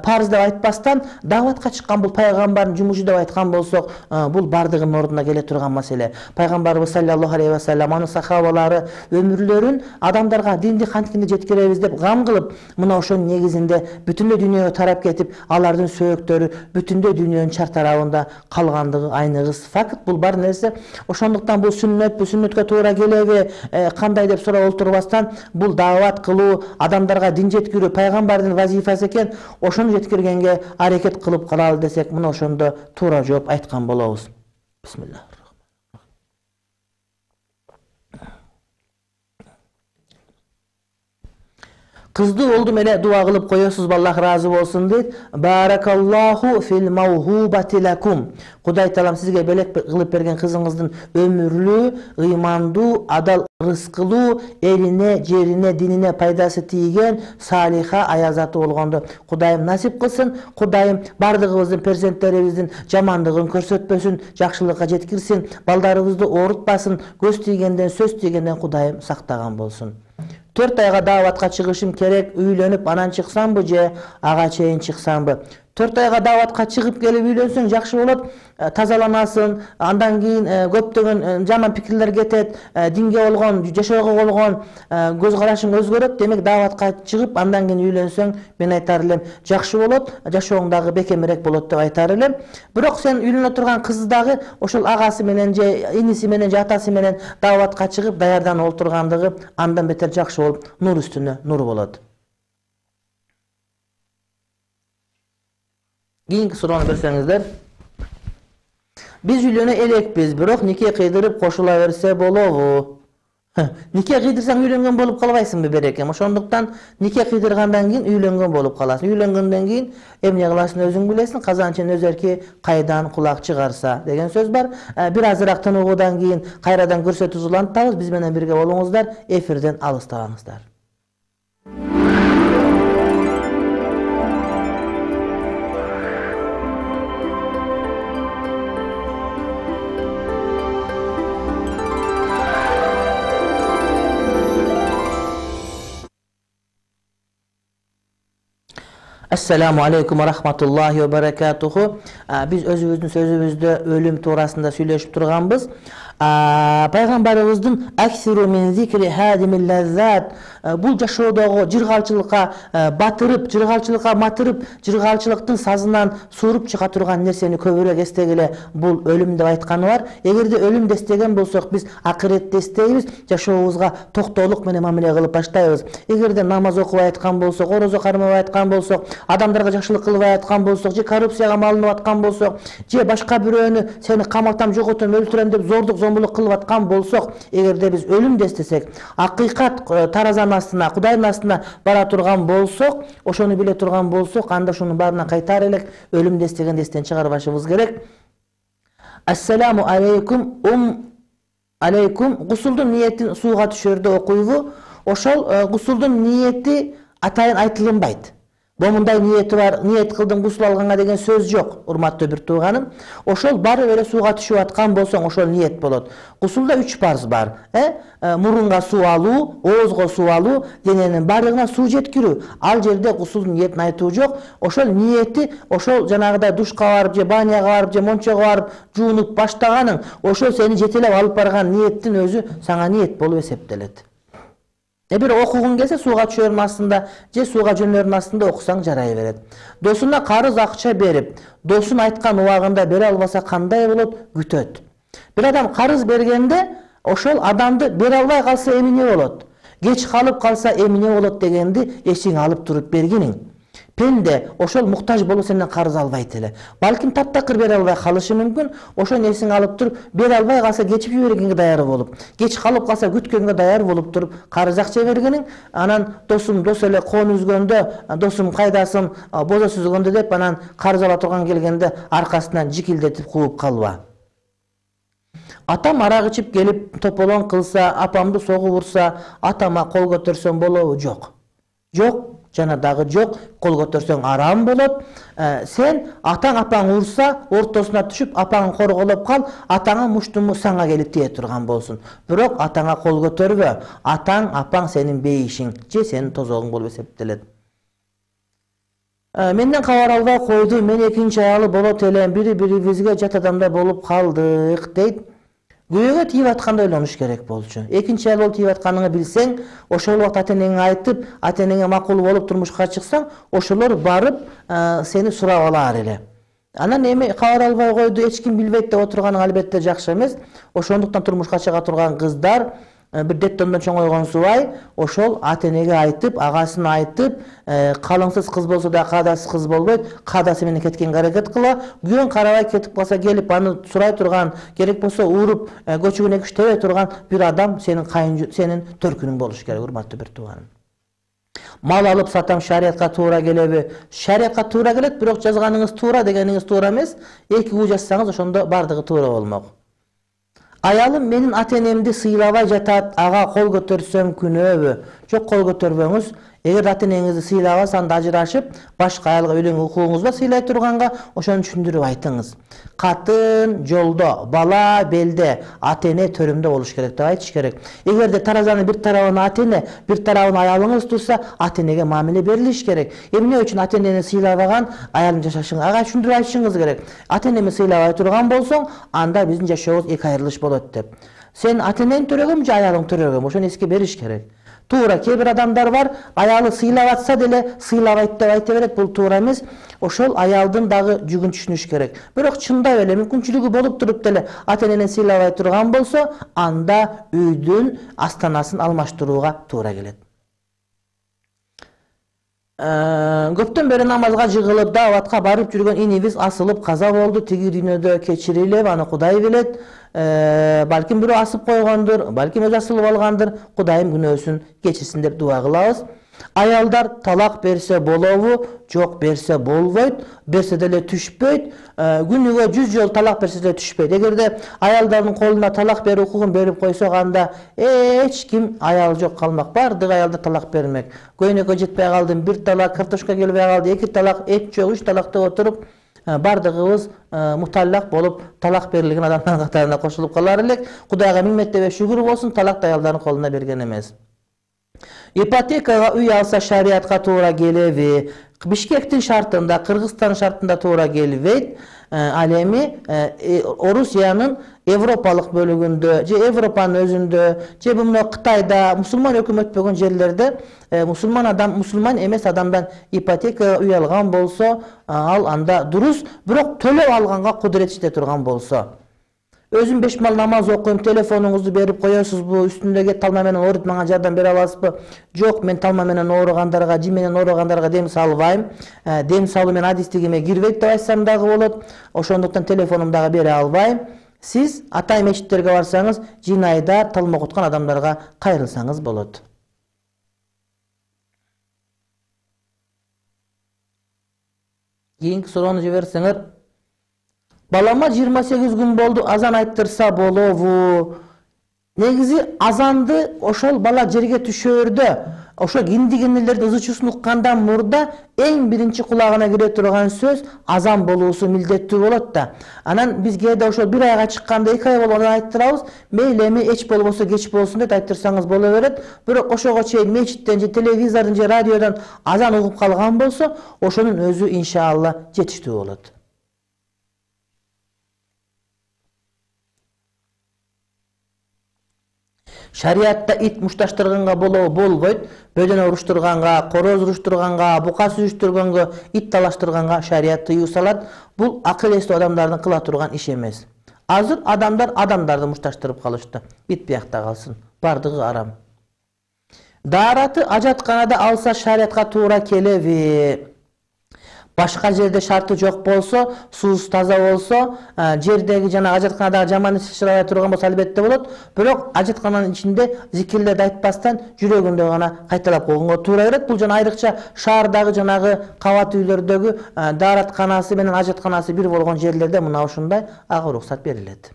парз деп айтпастан, даватка чыккан бул пайгамбардын жумушу деп айткан болсок, бул бардыгынын ордуна келе турган маселе. Пайгамбарыбыз саллаллаху алейхи ва саллям анын сахабалары өмүрлөрүн адамдарга динди кантип жеткиребиз деп гам кылып, мына ошонун негизинде бүтүндөй дүйнөгө тарап кетип, алардын сөөктөрү бүтүндөй дүйнөнүн чар тарабында калгандыгы айныгыс факт. Бул бар нерсе. Ошондуктан бул сүннөт, бул сүннөткө туура келеби, кандай деп сурап олтурбастан, бул дават кылуу, адамдарга дин жеткирүү пайгамбардын вазифасы экен. Ошону жеткиргенге аракет кылып калалы десек, мына ошондо туура жооп айткан болобуз. Бисмилlah. Кызды олдум эле дуа кылып коесузбу, Аллах ыраазы болсун дейт. Баракаллаху фил маухубати лакум. Кудай таалам сизге белек кылып берген кызыңыздын өмүрлүү, ыймандуу, адал рызкылуу, элине, жерине, динине пайдасы тийген салиха аязаты болгонду Кудайым насип кылсын. Кудайым бардыгыбыздын перзенттерибиздин жамандыгын көрсөтпөсүн, жакшылыкка жеткирсин, балдарыбызды оорутпасын, көз тийгенден, сөз тийгенден Кудайым сактаган болсун. Төрт айга даватка чыгышым керек, үйлөнүп анан чыксамбы же ага чейин чыксамбы? Төрт айга даватка чыгып келип үйлөнсөң жакшы болот. Тазаланасың, андан кийин көптөгөн жаман пикирлер кетет, динге болгон, жашоого болгон көз карашың өзгөрөт. Демек даватка чыгып андан кийин үйлөнсөң, мен айтар элем, жакшы болот, жашооң дагы бекемирээк болот деп айтар элем. Бирок сен үйлөнө турган кыз дагы ошол агасы менен же иниси менен же атасы менен даватка чыгып даярданып олтургандыгы андан бетер жакшы болуп, нур үстүнө нур болот. Кийинки суроону берсеңиздер. Биз үйлөнө элекпиз, бирок нике кыйдырып кошула берсе болобу? Нике кыйдырсаң үйлөнгөн болуп калбайсыңбы берекем? Ошондуктан нике кыйдыргандан кийин үйлөнгөн болуп каласың. Үйлөнгөндөн кийин эмне кыласың өзүң билесиң. Казанчын өзерки кайдан кулак чыгарса деген сөз бар. Бир азыраак тыныгуудан кийин кайрадан көрсөтүү улантабыз. Биз менен бирге болуңуздар, эфирден алыстабаңыздар. Assalamu alaikum wa rahmatullahi wa barakatuhu. Biz özümüzdün sözümüzde ölüm tuğrasında söyleşip turganbız. Пайгамбарыбыздын аксиру мин зикри хадимил лаззат, бул жашоодогу жыргалчылыкка батырып, жыргалчылыкка матырып, жыргалчылыктын сазынан сууруп чыга турган нерсени көбүрөөк эстегиле, бул өлүм деп айтканы бар. Эгерде өлүм эстеген болсок, биз акыретти эстейбиз, жашообузга токтоолук менен мамиле кылып баштайбыз. Эгерде намаз окубай айткан болсок, орозо кармабай айткан болсок, адамдарга жакшылык кылбай айткан болсок, же коррупцияга малынып аткан болсок, же башка бирөөнү сени каматам, жоготом, өлтүрөм деп зордук зомбулук кылып аткан болсок, эгерде биз өлүм дестесек, акыйкат таразанын астына, Кудайдын астына бара турган болсок, ошону биле турган болсок, анда ошонун баарына кайтар элек, өлүм дестеген эстен чыгарбашыбыз керек. Ассаламу алейкум, ум алейкум, гусулдун ниетин сууга түшөрдө окуйбу? Ошол гусулдун ниети атайын айтылынбайт. Момундай ниети бар, ниет кылдым гусул алганга деген сөз жок, урматтуу бир тууганым. Ошол бары эле сууга түшүп аткан болсоң, ошол ниет болот. Гусулда үч парз бар. Э? Мурунга суу алуу, оозго суу алуу, дененин бардыгына суу жеткирүү. Ал жерде гусулдун ниетин айтуу жок. Ошол ниети, ошол жанагыдай душка барып, же баняга барып, же мончого барып, жуунуп баштаганың, ошол сени жетелеп алып барган ниеттин өзү сага ниет болуп эсептелет. Бир окугуң келсе, сууга түшөрүн астында же сууга жөнөрүн астында окусаң жарай берет. Досуна карыз акча берип, досун айткан убагында бере албаса кандай болот? Күтөт. Бир адам карыз бергенде, ошол адамды бере албай калса эмне болот, кеч калып калса эмне болот дегенди эсиңе алып туруп бергиниң. Пенде ошол муктаж болуп сенден карыз албайт эле. Балким таптакыр бере албай калышы мүмкүн. Ошону эсиңе алып туруп, бере албай калса кечип жибергенге даяр болуп, кеч калып калса күткөнгө даяр болуп туруп карыз акча бергениң. Анан досум дос эле коон үзгөндө, досум кайдасың, бозо сүзгөндө деп анан карыз ала турган келгенде аркасынан жикилдетип кууп калба. Атам арак ичип келип тополоң кылса, апамды согуп урса, атама кол көтөрсөм болобу? Жок. Жок. Жана дагы жок, кол көтөрсөң арам болот. Сен атаң апаң урса, ортосуна түшүп, апаңы корголоп кал, атаңа муштуму саңа келип тие турган болсун. Бирок атаңа кол көтөрбө. Атаң, апаң сенин бейишиң, же сенин тозогуң болуп эсептелет. Менден кабар албай койду, мен экинчи аялы болот элем, бири-бирибизге жат адамда болуп калдык, дейт. Күйөөгө тийип атканда ойлонуш керек болчу. Экинчи аял болуп тийип атканыңы билсең, ошол убакта ата-энеңе айтып, ата-энеңе макул болуп турмушка чыксаң, ошолор барып сени сурап алар эле. Анан эми кабар албай койду, эч ким билбейт деп отурганың албетте жакшы эмес. Ошондуктан турмушка чыга турган кыздар бир деттондон чоңойгон субай ошол ата-энеге айтып, агасына айтып, калыңсыз кыз болсо да каадасыз кыз болбойт, каадасы менен кеткенге аракет кыла. Күйөөң карабай кетип калса келип аны сурай турган, керек болсо уруп көчөгүнө күчтөбөй турган бир адам сенин кайын сенин төркүнүң болуш керек, урматтуу бир тууганым. Мал алып сатам шариятка туура келеби? Шариятка туура келет, бирок жазганыңыз туура дегениңиз туура эмес. Эки уу жазсаңыз ошондо бардыгы туура болмок. Аялым менин ата-энемди сыйлабай жатат, ага кол көтөрсөм күнөөбү? Жок, кол көтөрбөңүз. Эгер ата-энеңизди сыйлабаса, анда ажырашып, башка аялга үйлөнгөн укугуңуз бар сыйлай турганга, ошону түшүндүрүп айтыңыз. Катын жолдо, бала белде, ата-эне төрүмдө болуш керек деп айтыш керек. Эгерде таразанын бир тарабын ата-эне, бир тарабын аялыңыз турса, ата-энеге мамиле берилиш керек. Эмне үчүн ата-энени сыйлабаган аялым жашашыңыз, ага түшүндүрүп айтышыңыз керек. Ата-энеми сыйлабай турган болсоң, анда биздин жашообуз эки айрылыш болот деп. Сен ата-энең төрөгөмү же аялың төрөгөмү? Ошону эске бериш керек. Туура, кээ бир адамдар бар, аялы сыйлап атса деле сыйлабайт деп айта берет, бул туура эмес. Ошол аялдын дагы жүгүн түшүнүш керек. Бирок чындап эле мүмкүнчүлүгү болуп туруп деле ата-энени сыйлабай турган болсо, анда үйдүн астанасын алмаштырууга туура келет. Көптөн бери намазга жыгылып, дааватка барып жүргөн инибиз асылып каза болду. Тиги дүйнөдө кечирилип, аны Кудай билет. Балким бирөө асып койгондур, балким өзү асылып алгандыр. Кудайым күнөөсүн кечирсин деп дуа кылабыз. Аялдар талак берсе болобу? Жок, берсе болбойт. Берсе деле түшпөйт. Күнүгө жүз жолу талак берсе деле түшпөйт. Эгерде аялдардын колуна талак берүү укугун берип койсок, анда эч ким аял жок калмак. Бардык аялдар талак бермек. Көйнөккө жетпей калдым, бир талак, картошка келбей калды, эки талак, эт жок, үч талак деп отуруп, бардыгыбыз муталлак болуп, талак берилген адамдардын катарына кошулуп калар элек. Кудайга миңметтебе шүгүр болсун, талак да аялдардын колуна берген эмес. Ипотекага үй алса шариятка туура келеби? Бишкектин шартында, Кыргызстан шартында туура келбейт. Ал эми Орусиянын Европалык бөлүгүндө, же Европанын өзүндө, же мына Кытайда мусулман өкмөтпөгөн жерлерде мусулман адам, мусулман эмес адамдан ипотека үй алган болсо, ал анда дурус, бирок төлөп алганга кудурет жете турган болсо. Өзүм беш мал намаз окуйм, телефонуңузду берип коесузбу, үстүндөгү талма менен ооруп мага жардам бере аласызбы? Жок, мен талма менен ооругандарга, жим менен ооругандарга дем салбайм. Дем салуу менен адистигиме кирбейт деп айтсам дагы болот. Ошондуктан телефонумду дагы бере албайм. Сиз атай мечиттерге барсаңыз, жинайда талма окуткан адамдарга кайрылсаңыз болот. Кийинки суроону жиберсеңер. Балама жыйырма сегиз күн болду, азан айттырса болобу? Негизи азанды ошол бала жерге түшөөрдө, ошо киндигенелердин ызычуусун уккандан мурда эң биринчи кулагына кире турган сөз азан болуусу милдеттүү болот да. Анан биз кээде ошол бир айга чыкканда эки ай болгондо айттырабыз, мейли эми эч болбосо кеч болсун деп айттырсаңыз боло берет. Бирок ошого чейин мечиттен же телевизордон же радиодон азан угуп калган болсо, ошонун өзү иншалла жетиштүү болот. Шариатта ит мушташтырганга болобу? Болбойт. Бөдөн уруштурганга, короз уруштурганга, бука сүзүштүргөнгө, ит талаштырганга шариат тыюу салат. Бул акыл эстүү адамдардын кыла турган иш эмес. Азыр адамдар адамдарды мушташтырып калышты. Bitпей акта калсын. Бардыгы арам. Даараты ажатканада алса шариатка туура келеби? Башка жерде шарты жок болсо, суусу таза болсо, жердеги жана ажатканадагы жаман иш чыгара турган болсо албетте болот. Бирок ажаткананын ичинде зикирлерди айтпастан жүрөгүндө гана кайталап койгонго туура келет. Бул жана айрыкча шаардагы жанагы кабат үйлөрдөгү дааратканасы менен ажатканасы бир болгон жерлерде мына ушундай ага уруксат берилет.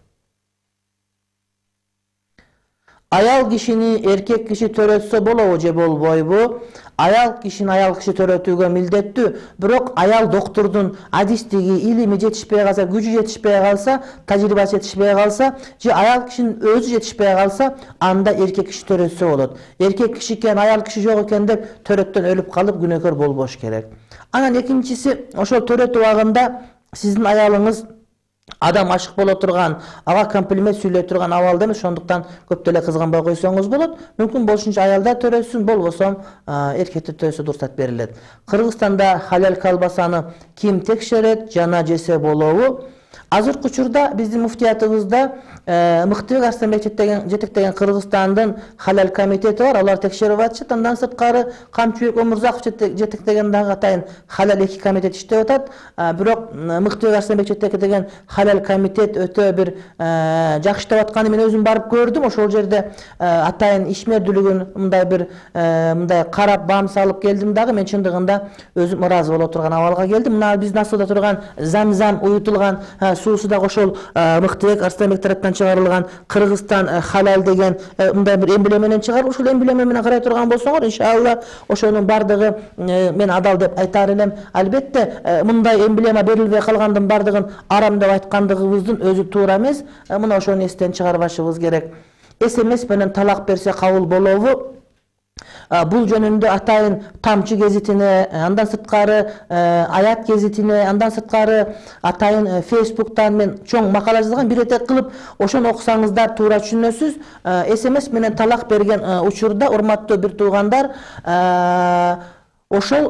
Аял кишини эркек киши төрөтсө болобу же болбойбу? Аял кишини аял киши төрөтүүгө милдеттүү, бирок аял доктурдун адистиги, илими жетишпей калса, күчү жетишпей калса, тажрыйбасы жетишпей калса, же аял кишинин өзү жетишпей калса, анда эркек киши төрөтсө болот. Эркек киши экен, аял киши жок экен деп төрөттөн өлүп калып күнөөкөр болбош керек. Анан экинчиси, ошол төрөтүү убагында сиздин аялыңыз адам ашык боло турган, ага комплимент сүйлөй турган абалда эмес, ошондуктан көп деле кызганбай койсоңуз болот. Мүмкүн болушунча аялдар төрөсүн, болбосо эркектер төрөсө уруксат берилет. Кыргызстанда халал колбасаны ким текшерет, жана жесе болобу? Азыркы учурда биздин муфтиятыбызда Мыктыбек Арстанбек жетектеген Кыргызстандын халал комитети бар, алар текшерип атышат. Андан сырткары Камчыбек Омурзаков жетектеген дагы атайын халал эки комитет иштеп атат. Бирок Мыктыбек Арстанбек жетектеген халал комитет өтө бир жакшы иштеп атканы мен өзүм барып көрдүм. Ошол жерде атайын ишмердүүлүгүн мындай бир мындай карап бам салып келдим дагы. Мен чындыгында өзүм ыраазы боло турган абалга келдим. Мына биздин асылда турган Замзам уютулган суусу дагы ошол Мыктыбек Арстанбек тараптан чыгарылган Кыргызстан халал деген мындай бир эмблема менен чыгарылып, ошол эмблема менен карай турган болсоңор, иншалла ошонун бардыгы мен адал деп айтар элем. Албетте мындай эмблема берилбей калгандын бардыгын арам деп айткандыгыбыздын өзү туура эмес. Мына ошону эстен чыгарбашыбыз керек. СМС менен талак берсе кабыл болобу? Бул жөнүндө атайын Тамчы гезитине, андан сырткары Аят гезитине, андан сырткары атайын Фейсбуктан мен чоң макала жазылган, бир этек кылып ошону окусаңыздар туура түшүнөсүз. СМС менен талак берген учурда, урматтуу бир туугандар, ошол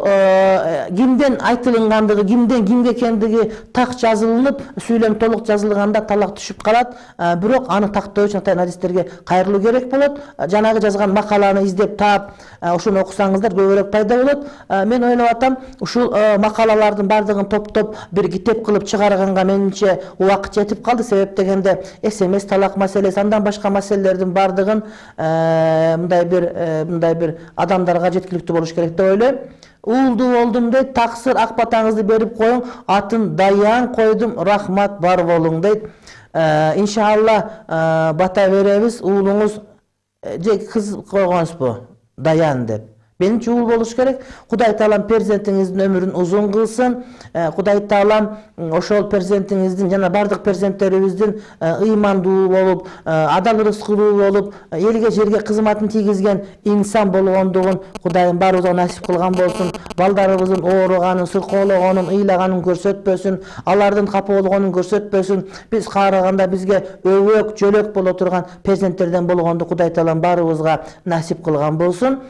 кимден айтылгандыгы, кимден кимге экендиги так жазылып, сүйлөм толук жазылганда талак түшүп калат. Бирок аны тактоо үчүн атайын адистерге кайрылуу керек болот. Жанагы жазган макаланы издеп таап, ошону окусаңыздар көбүрөөк пайда болот. Мен ойлоп атам, ушул макалалардын бардыгын топтоп бир китеп кылып чыгарганга менимче убакыт жетип калды. Себеп дегенде СМС талак маселеси, андан башка маселелердин бардыгын мындай бир мындай бир адамдарга жеткиликтүү болуш керек деп ойлойм. Уулду болдум дейт, таксыр ак батаңызды берип коюң, атын Даян койдум, рахмат бар болуң дейт. Иншалла бата беребиз. Уулуңуз же кыз койгонсузбу? Даян деп. Менимче ул болуш керек. Кудай таалам перзентиңиздин өмүрүн узун кылсын. Кудай таалам ошол перзентиңиздин жана бардык перзенттерибиздин ыймандуу болуп, адал ырыскылуу болуп, элге жерге кызматын тийгизген инсан болгондугун Кудайым баарыбызга насип кылган болсун. Балдарыбыздын ооруганын, сыркоологонун, ыйлаганын көрсөтпөсүн, алардын капа болгонун көрсөтпөсүн. Биз каараганда бизге өбөк, жөлөк боло турган перзенттерден болгонду Кудай таалам баарыбызга насип кылган болсун.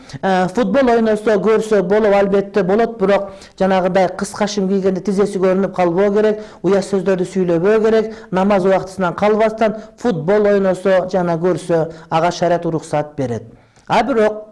Футбол ойносо, көрсө болот, албетте болот, бирок жанагыдай кыска шим кийгенде тизеси көрүнүп калбоо керек, уя сөздөрдү сүйлөбөө керек, намаз убактысынан калбастан футбол ойносо жана көрсө ага шариат уруксат берет. А бирок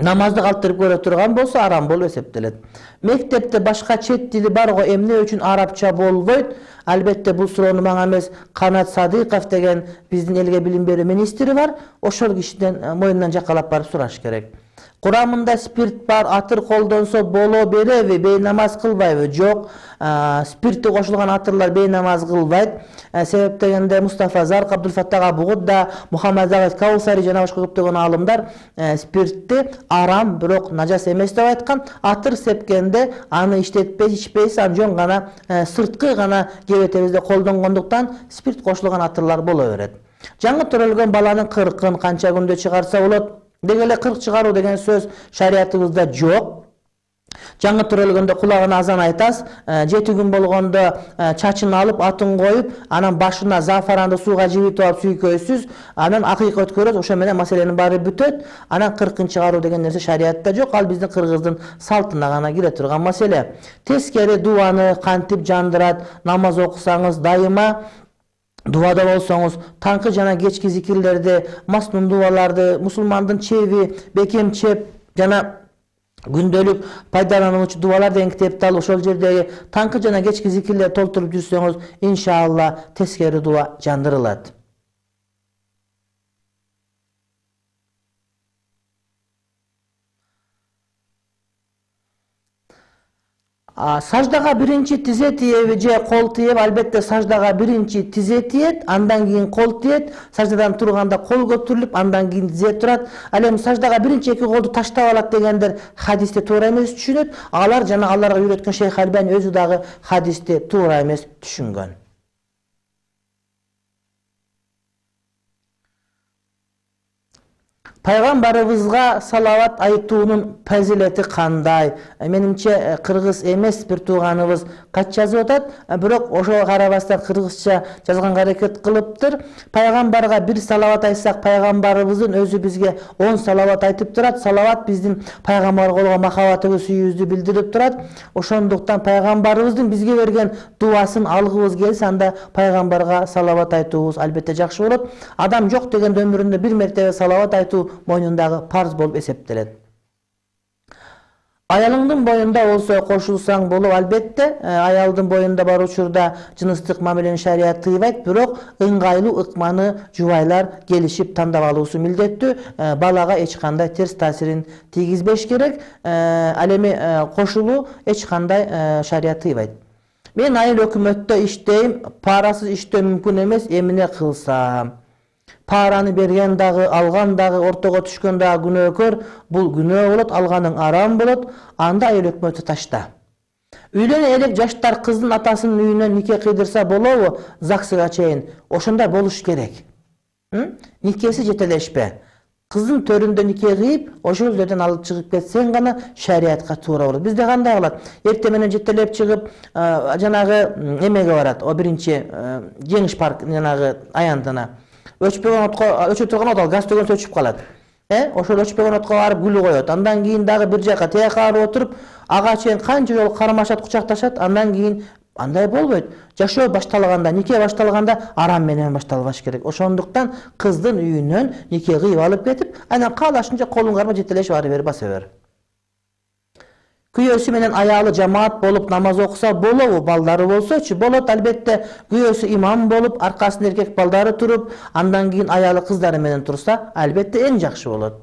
намазды калтырып көрө турган болсо арам болуп эсептелет. Мектепте башка чет тили бар го, эмне үчүн арабча болбойт? Албетте бул суроону мага эмес, Канат Садыков деген биздин элге билим берүү министри бар. Ошол кишиден мойнунан жакалап барып сураш керек. Курамында спирт бар, атыр колдонсо боло береби, бейнамаз кылбайбы? Жок, спирти кошулган атырлар бейнамаз кылбайт. Себеп дегенде Мустафа Зарк, Абдулфаттах Абугудда, Мухаммад Завид Каусари жана башка көптөгөн аалымдар спиртти арам, бирок нажас эмес деп айткан. Атыр сепкенде аны иштетпей, ичпейсиз, аны жөн гана сырткы гана кебетебизде колдонгондуктан спирт кошулган атырлар боло берет. Жаңы төрөлгөн баланын кыркын канча күндө чыгарса болот? Деги эле кырк чыгаруу деген сөз шариятыбызда жок. Жаңы төрөлгөндө кулагына азан айтасыз, жети күн болгондо чачын алып, атын коюп, анан башына зафаранды сууга жибитип алып сүйкөйсүз, анан акыйка өткөрөт, ошо менен маселенин баары бүтөт. Анан кыркын чыгаруу деген нерсе шариятта жок, ал биздин кыргыздын салтына гана кире турган маселе. Тескери дубаны кантип жандырат, намаз окусаңыз дайыма Дубада болсоңуз, таңкы жана кечки зикирлерди, маснун дубаларды, мусулмандын чеби, бекем чеп жана күндөлүк пайдалануучу дубалар деген китепти алып ошол жердеги таңкы жана кечки зикирлерди толтуруп жүрсөңүз, иншалла тескери дуба жандырылат. Саждага биринчи тизе тиеби же кол тиеби? Албетте саждага биринчи тизе тиет, андан кийин кол тиет. Саждадан турганда кол көтөрүлүп, андан кийин тизе турат. Ал эми саждага биринчи эки колду таштап алат дегендер хадисте туура эмес түшүнөт. Алар жана аларга үйрөткөн Шейх Альбани өзү дагы хадисте туура эмес түшүнгөн. Пайгамбарыбызга салават айтуунун фазилети кандай? Менимче кыргыз эмес бир тууганыбыз кат жазып атат, бирок ошого карабастан кыргызча жазганга аракет кылыптыр. Пайгамбарга бир салават айтсак, пайгамбарыбыздын өзү бизге он салават айтып турат. Салават биздин пайгамбарга болгон махабатыбыз, сүйүүбүздү билдирип турат. Ошондуктан пайгамбарыбыздын бизге берген дуасын алгыбыз келсе, анда пайгамбарга салават айтуубуз албетте жакшы болот. Адам жок дегенде өмүрүндө бир мертебе салават айтуу мойнундагы парз болуп эсептелет. Аялыңдын боюнда болсо кошулсаң болот, албетте. Аялдын боюнда бар учурда жыныстык мамилени шарият тыйбайт, бирок ыңгайлуу ыкманы жубайлар келишип тандап алуусу милдеттүү. Балага эч кандай терс таасирин тийгизбеш керек. Ал эми кошулуу эч кандай шарият тыйбайт. Мен айыл өкмөттө иштейм, парасыз иштөө мүмкүн эмес, эмне кылсам? Параны берген дагы, алган дагы, ортого түшкөн дагы күнөөкөр. Бул күнөө болот, алганың арам болот. Анда айыл өкмөтү ташта. Үйлөнө элек жаштар кыздын атасынын үйүнөн нике кыйдырса болобу? ЗАГСга чейин. Ошондой болуш керек. Никеси жетелешпе. Кыздын төрүндө нике кыйып, ошол жерден алып чыгып кетсең гана шариатка туура болот. Бизде кандай кылат? Эртең менен жетелеп чыгып, жанагы эмеге барат. О биринчи жеңиш парк жанагы аянтына. Өчпөгөн отко, өчө турган от ал газ төгөнсө өчүп калат. Э, ошол өчпөгөн отко барып гүл коет. Андан кийин дагы бир жака тияк барып отуруп, ага чейин канча жолу кармашат, кучакташат. Андан кийин андай болбойт. Жашоо башталганда, нике башталганда арам менен башталбаш керек. Ошондуктан кыздын үйүнөн нике кыйып алып кетип, анан каалашынча колуң карма жетелешип ары бери баса бер. Күйөөсү менен аялы жамаат болуп намаз окуса болобу? Балдары болсочу болот, албетте. Күйөөсү имам болуп, аркасында эркек балдары туруп, андан кийин аялы кыздары менен турса, албетте эң жакшы болот.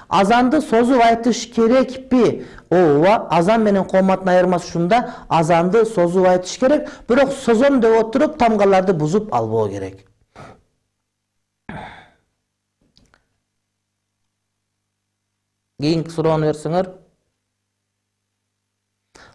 Азанды созуп айтыш керекпи? Ооба, азан менен кооматтын айырмасы ушунда, азанды созуп айтыш керек, бирок созом деп отуруп тамгаларды бузуп албоо керек. Кийинки суроону берсеңер.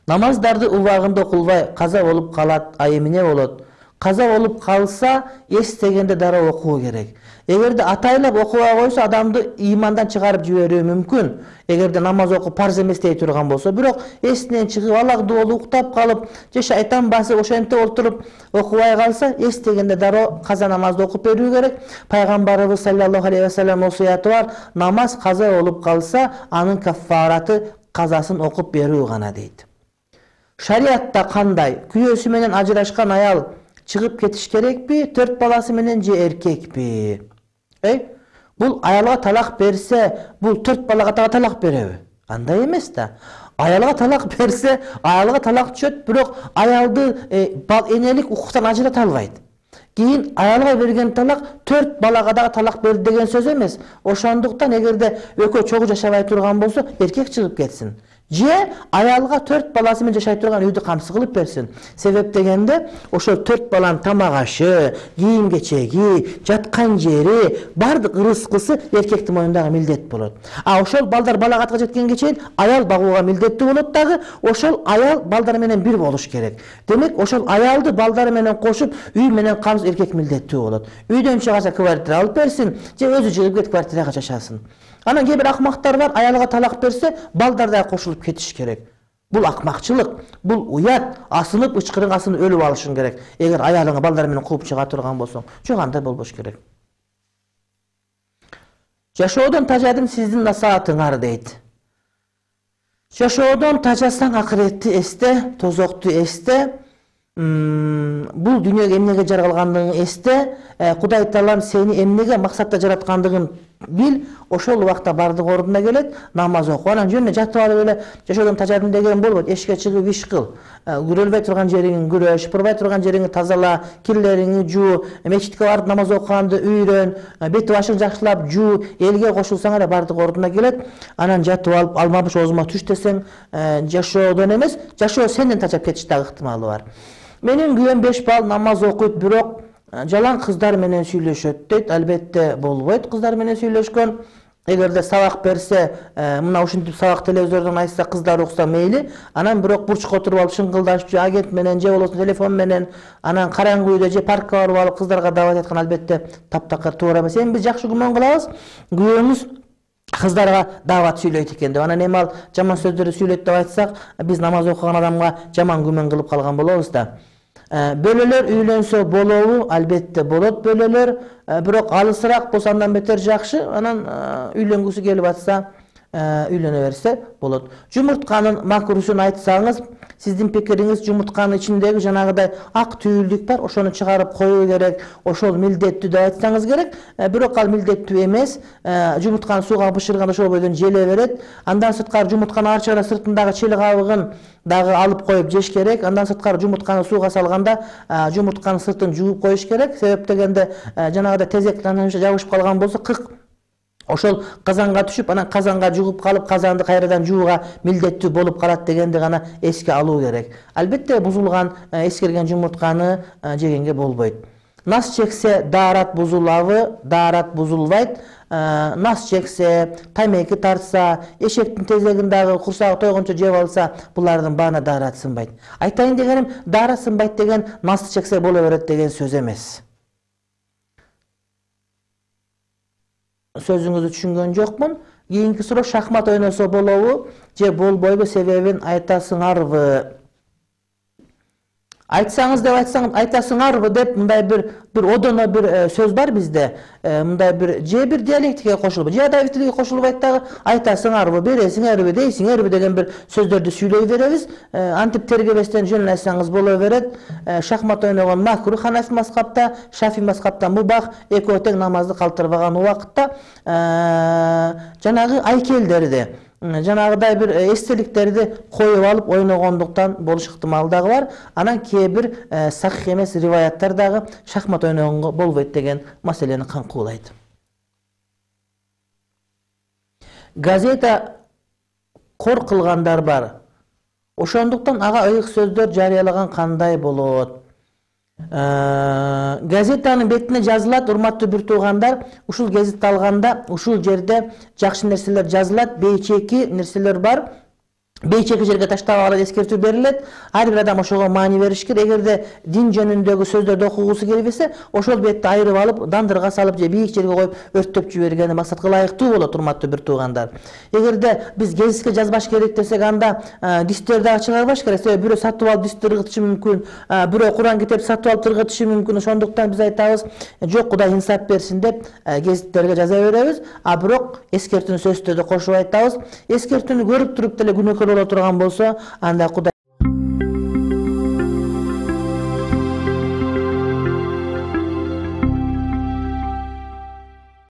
Намаздарды убагында окулбай каза болуп калат, а эмне болот? Каза болуп калса, эстегенде дароо окуу керек. Эгерде атайлап окубай койсо, адамды имандан чыгарып жиберүү мүмкүн. Эгерде намаз окуп парз эмес дей турган болсо, бирок эсинен чыгып, алакдуу болуп, уктап калып, же шайтан басып, ошентип отуруп окубай калса, эстегенде дароо каза намазды окуп берүү керек. Пайгамбарыбыз саллаллаху алейхи ва саллям осуяты бар: намаз каза болуп калса, анын каффараты казасын окуп берүү гана дейт. Шариатта кандай? Күйөөсү менен ажырашкан аял чыгып кетиш керекпи? Төрт баласы менен же эркекпи? Эй, бул аялга талак берсе, бул төрт балага дагы талак береби? Андай эмес да. Аялга талак берсе, аялга талак түшөт, бирок аялды энелик укуктан ажырата албайт. Кийин аялга берген талак төрт балага дагы талак берди деген сөз эмес. Ошондуктан эгерде экөө чогуу жашабай турган болсо, эркек чыгып кетсин. Же аялга төрт баласы менен жашай турган үйдү камсы кылып берсин. Себеп дегенде, ошол төрт баланын тамак ашы, кийим кечеги, жаткан жери, бардык ырыскысы эркектин мойнундагы милдет болот. А ошол балдар балагатка жеткенге чейин аял багууга милдеттүү болот дагы, ошол аял балдар менен бир болуш керек. Демек, ошол аялды балдары менен кошуп, үй менен камсыз эркек милдеттүү болот. Үйдөн чыгаса квартира алып берсин, же өзү чыгып кетип квартирага жашасын. Анан кээ бир акмактар бар, аялга талак берсе, балдар да кошулуп кетиш керек. Бул акмакчылык, бул уят, асынып ычкырың асынып өлүп алышың керек. Эгер аялыңа балдар менен кууп чыга турган болсоң, жок андай болбош керек. Жашоодон тажадым сиздин насаатыңар дейт. Жашоодон тажасаң акыретти эсте, тозокту эсте. бул дүйнөгө эмнеге жаралгандыгын эсте, Кудай Таалам сени эмнеге максатта жараткандыгын бил, ошол убакта бардык ордуна келет, намаз оку. Анан жөнүнө жатып алып эле жашоодон тажадым деген болбойт. Эшикке чыгып иш кыл. Күрөлбөй турган жериңи күрө, шыпырбай турган жериңи тазала, кирлериңи жуу, мечитке барып намаз окуганды үйрөн, бет башың жакшылап жуу, элге кошулсаң эле бардык ордуна келет. Анан жатып алып алмабыш оозума туш десең, жашоодон эмес, жашоо сенден тажап кетиш дагы ыктымалы бар. Менин күйөөм беш балл намаз окуйт, бирок жалаң кыздар менен сүйлөшөт дейт. Албетте болбойт кыздар менен сүйлөшкөн. Эгерде сабак берсе, мына ушинтип сабак телевизордон айтса, кыздар укса мейли. Анан бирок бурчка отуруп алып шыңгылдашып, же агент менен, же болбосо телефон менен, анан караңгы үйдө же паркка барып алып кыздарга дават айткан албетте таптакыр туура эмес. Эми биз жакшы күмөн кылабыз. Күйөөңүз кыздарга дават сүйлөйт экен деп. Анан эми ал жаман сөздөрдү сүйлөйт деп айтсак, биз намаз окуган адамга жаман күмөн кылып калган болобуз да. Бөлөлөр үйлөнсө болобу? Албетте болот бөлөлөр, бирок алысыраак болсо андан бетер жакшы. Анан үйлөнгүсү келип атса, үйлөнө берсе болот. Жумуртканын макрусун айтсаңыз, сиздин пикириңиз жумуртканын ичиндеги жанагыдай ак түйүлдүк бар, ошону чыгарып коюу керек, ошол милдеттүү деп айтсаңыз керек. Бирок ал милдеттүү эмес. Жумуртканы сууга бышырганда ошол бойдон желе берет. Андан сырткары жумуртканы ар чыгара сыртындагы чел кабыгын дагы алып коюп жеш керек. Андан сырткары жумуртканы сууга салганда жумуртканын сыртын жууп коюш керек. Себеп дегенде жанагыдай тезек жабышып калган болсо, кык ошол казанга түшүп, анан казанга жугуп калып, казанды кайрадан жууга милдеттүү болуп калат дегенди гана эске алуу керек. Албетте бузулган, эскерген жумуртканы жегенге болбойт. Нас чексе даарат бузулабы? Даарат бузулбайт. Нас чексе, тамеки тартса, эшектин тезегин дагы курсагы тойгончо жеп алса, булардын баана даарат сынбайт. Айтайын дегеним, даарат сынбайт деген нас чексе боло берет деген сөз эмес. Сөзүңүздү түшүнгөн жокмун. Кийинки суроо, шахмат ойносо болобу же болбойбу, себебин айтасыңарбы? Айтсаңыз деп айтсаң, айтасыңарбы деп мындай бир бир одоно бир сөз бар бизде. Мындай бир же бир диалектикага кошулуп, же адабий тилге кошулбайт дагы, айтасыңарбы, бересиңерби, дейсиңерби деген бир сөздөрдү сүйлөй беребиз. Антип тергебестен жөн айтсаңыз боло берет. Шахмат ойногон макрух Ханафи мазхабта, Шафи мазхабта мубах, экөө тең намазды калтырбаган убакытта жанагы айкелдерди, жанагыдай бир эстеликтерди коюп алып ойногондуктан болуш ыктымалы дагы бар. Анан кээ бир сахих эмес риваяттар дагы шахмат ойногонго болбойт деген маселени камкуулайт. Газета кор кылгандар бар. Ошондуктан ага ыйык сөздөр жарыялаган кандай болот? Газетанын бетине жазылат, урматтуу бир туугандар, ушул гезитти алганда ушул жерде жакшы нерселер жазылат, бейчеки нерселер бар. Бейчеки жерге таштабагыла эскертүү берилет. Ар бир адам ошого маани бериш керек. Эгерде дин жөнүндөгү сөздөрдү окугусу келбесе, ошол бетти айырып алып, дандырга салып же бийик жерге коюп өрттөп жибергени максатка ылайыктуу болот, урматтуу бир туугандар. Эгерде биз гезитке жазбаш керек десек, анда дистерди дагы чыгарбаш керек. Себеби бирөө сатып алып дисти ыргытышы мүмкүн, бирөө Куран китеп сатып алып ыргытышы мүмкүн. Ошондуктан биз айтабыз, жок, Кудай инсап берсин деп гезиттерге жаза беребиз. А бирок эскертүүнү сөздөрдү кошуп айтабыз. Эскертүүнү көрүп туруп деле күнөөкөр боло турган болсо, анда Кудай